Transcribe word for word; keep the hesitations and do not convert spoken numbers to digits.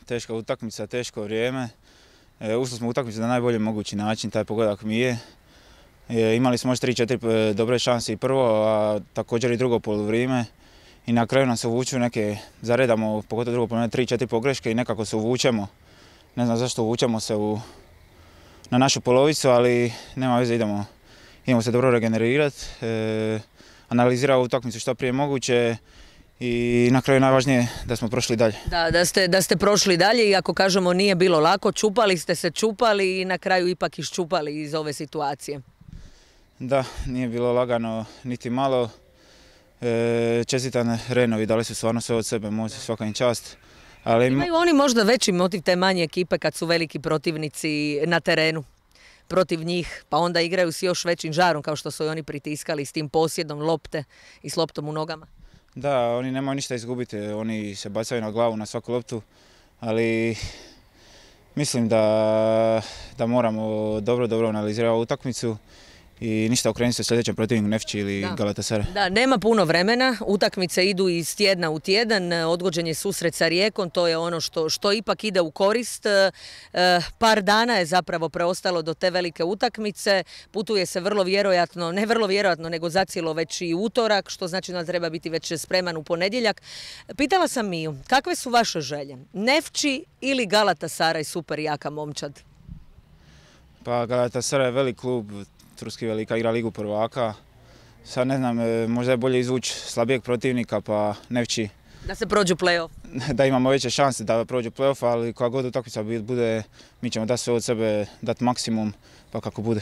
teška utakmica, teško vrijeme. E, ušli smo u utakmicu na najbolji mogući način, taj pogodak mi je. E, imali smo još tri četiri dobre šanse i prvo, a također i drugo poluvrijeme. I na kraju nam se uvuču neke, zaredamo, pogotovo drugo poluvrijeme, tri četiri pogreške i nekako se uvučemo. Ne znam zašto uvučemo se u, na našu polovicu, ali nema veze, idemo, idemo se dobro regenerirati. E, analizirati utakmicu što prije moguće. I na kraju najvažnije da smo prošli dalje. Da, da ste, da ste prošli dalje i ako kažemo nije bilo lako, čupali ste se, čupali i na kraju ipak iščupali iz ove situacije. Da, nije bilo lagano niti malo. E, čestitam Renovi, dali su stvarno sve od sebe, moći svaka im čast. Ali... Imaju oni možda veći motiv te manje ekipe kad su veliki protivnici na terenu protiv njih, pa onda igraju s još većim žarom kao što su i oni pritiskali s tim posjedom lopte i s loptom u nogama. Da, oni nemaju ništa izgubiti, oni se bacaju na glavu na svaku loptu, ali mislim da, da moramo dobro, dobro analizirati ovu utakmicu i ništa okrenuti se sljedećem protivniku Nefči ili da. Galatasaray. Da, nema puno vremena, utakmice idu iz tjedna u tjedan, odgođen je susret sa Rijekom, to je ono što, što ipak ide u korist. E, par dana je zapravo preostalo do te velike utakmice, putuje se vrlo vjerojatno, ne vrlo vjerojatno, nego zacijelo već i utorak, što znači da treba biti već spreman u ponedjeljak. Pitala sam Miju, kakve su vaše želje? Nefči ili Galatasaray, super jaka momčad? Pa Galatasaray je velik klub, turski velika, igra ligu prvaka. Sad ne znam, možda je bolje izvući slabijeg protivnika pa Nefči. Da se prođu play-off. Da imamo veće šanse da prođu play-off, ali koja god utakmica bude, mi ćemo dati sve od sebe, dati maksimum, pa kako bude.